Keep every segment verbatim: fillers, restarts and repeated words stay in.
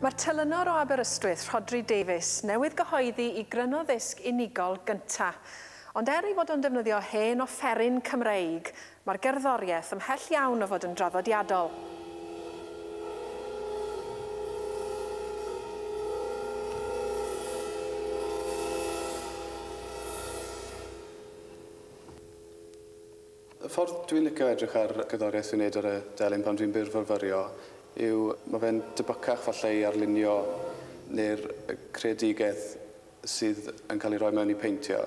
Mae'r telynor o Aberystwyth, Rhodri Davies, newydd gyhoeddi i gryno ddisg unigol gynta. Ond er ei fod o'n defnyddio hen offeryn Cymreig, mae'r gerddoriaeth ymhell iawn o fod yn draddodiadol. Y ffordd dwi'n licio edrych ar gerddoriaeth dwi'n neud ar y delyn pan dwi'n byrfyfyrio yw mae fe'n debycach falle i arlunio neu'r creadigaeth sydd yn cael ei roi mewn i peintio.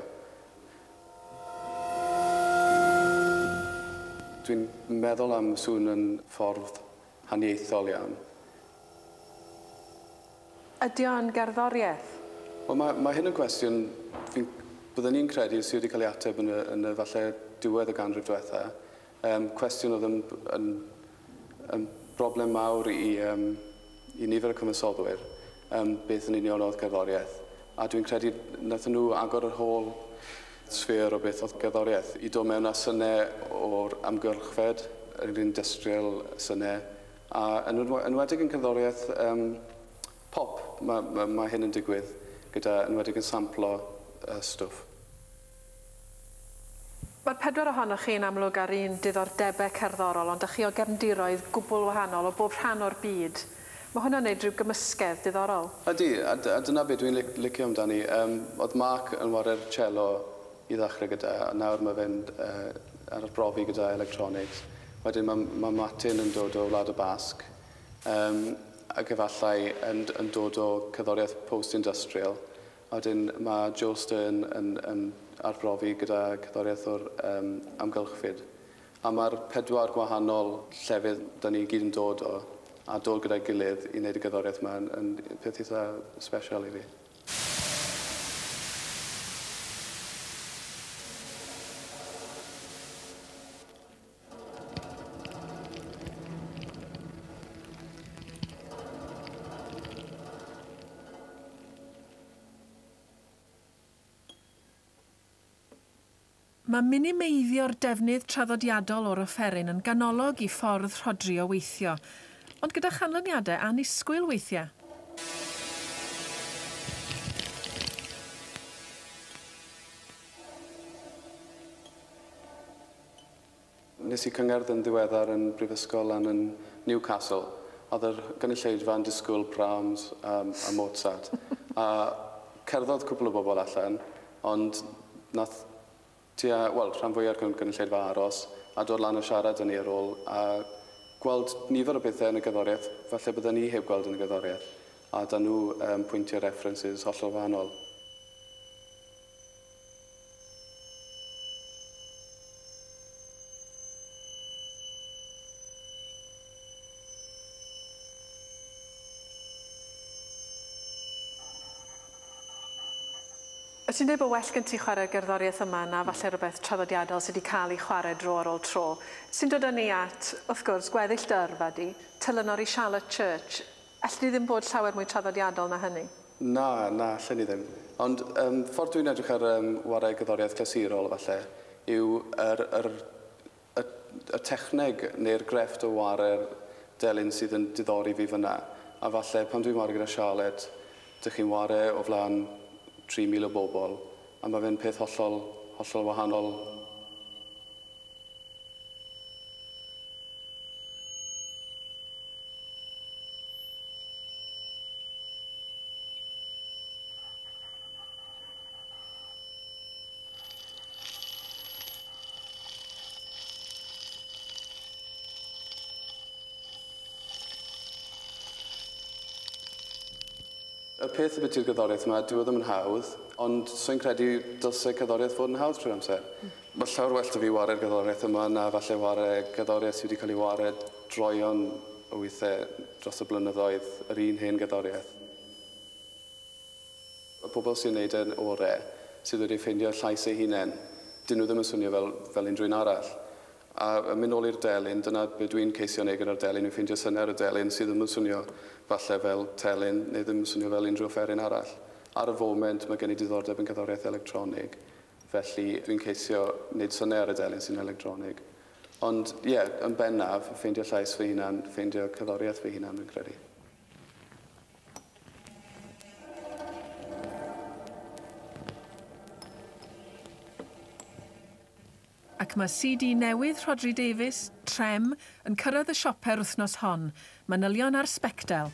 Dwi'n meddwl am sŵn yn ffordd haniaethol iawn. Ydy o'n gerddoriaeth? Wel, mae, mae hyn yn cwestiwn fi'n, byddwn i'n credu sydd wedi cael ei ateb yn y, yn y falle diwedd y ganrif diwetha. Um, cwestiwn oedd yn, yn, yn broblem mawr i, um, i nifer y cyfansoddwyr, um, beth yn union oedd gerddoriaeth. A dwi'n credu wnaethon nhw agor yr whole sphere o beth oedd gerddoriaeth, i dod mewn â synau o'r amgylchfed, yr industrial synau, a yn enwedig yn cerddoriaeth um, pop, mae, ma, ma hyn yn digwydd, gyda enwedig yn samplo uh, stwff. Mae'r pedwar ohonoch chi'n amlwg ar un diddordebau cerddorol, ond ydych chi o gefndiroedd gwbl wahanol o bob rhan o'r byd. Mae hwnna'n neud rhyw gymysgedd diddorol. Ydy, a, a dyna beth dwi'n licio amdani. Um, oedd Mark yn ware'r cello i ddechrau gyda, a nawr mae fe'n uh, arbrofi gyda electronics. Wedyn mae, mae Martin yn dod o Wlad y Basg, um, ac efallai yn, yn dod o cerddoriaeth post-industrial. Wedyn mae Joel Stern yn, yn arbrofi gyda cerddoriaeth o'r um, amgylchfyd. A mae'r pedwar gwahanol llefydd da ni gyd yn dod o, a dod gyda'i gilydd i wneud y gerddoriaeth yma yn, yn peth eitha special i fi. Mae minimeiddio'r defnydd traddodiadol o'r offeryn yn ganolog i ffordd Rhodri o weithio, ond gyda chanlyniadau annisgwyl weithiau. Nes i cyngerdd yn ddiweddar yn Brifysgol lan yn Newcastle. Oedd yr gynulleidfa yn disgwyl Brahms um, a Mozart. A cerddodd cwpl o bobl allan, ond nath tua, wel, rhan fwyaf o'r gynulleidfa aros a dod lan a siarad â ni ar ôl a gweld nifer o bethau yn y gerddoriaeth, falle bydden ni heb gweld yn y gerddoriaeth, a da nhw um, pwyntio references hollol wahanol. Wyt ti'n dweud bod well gen ti chwarae'r gerddoriaeth yma na falle rhywbeth traddodiadol sydd wedi cael ei chwarae dro ar ôl tro. Sy'n dod â ni at, wrth gwrs, gweddill dy yrfa di, telynor i Charlotte Church. Alli di ddim bod llawer mwy traddodiadol na hynny? Na, na, allen ni ddim. Ond um, ffordd dwi'n edrych ar um, warae gerddoriaeth clasurol falle yw yr, yr, y, y techneg neu'r grefft o ware'r delyn sydd yn diddori fi fyna. A falle pan dwi'n ware gyda Charlotte, dych chi'n ware o flaen tri mil o bobl, a mae fe'n peth hollol, hollol wahanol. Y peth ambiti'r gerddoriaeth yma, dyw e ddim yn hawdd, ond so'n credu dylse cerddoriaeth fod yn hawdd trwy'r amser. Mae llawer well 'da fi ware'r gerddoriaeth yma na falle ware gerddoriaeth sydd wedi cael ei ware droeon o weithiau dros y blynyddoedd, yr un hen gerddoriaeth. Y pobl sy'n neud e'n ore, sydd wedi ffeindio llais eu hunain, dyn nhw ddim yn swnio fel, fel unrhyw un arall. A mynd nôl i'r delyn, dyna be dwi'n ceisio wneud gyda'r delyn, yw ffeindio syniad y delyn sydd ddim yn swnio falle fel telyn neu ddim yn swnio fel unrhyw offeryn arall. Ar y foment mae gen i diddordeb yn cerddoriaeth electronig, felly dwi'n ceisio wneud syniad ar y delyn sy'n electronig. Ond ie, yeah, yn bennaf, ffeindio llais fy hunan, ffeindio cerddoriaeth fy hunan, fi'n credu. Ac mae C D newydd Rhodri Davies, Trem, yn cyrraedd y siope'r wythnos hon. Manylion ar Sbectel.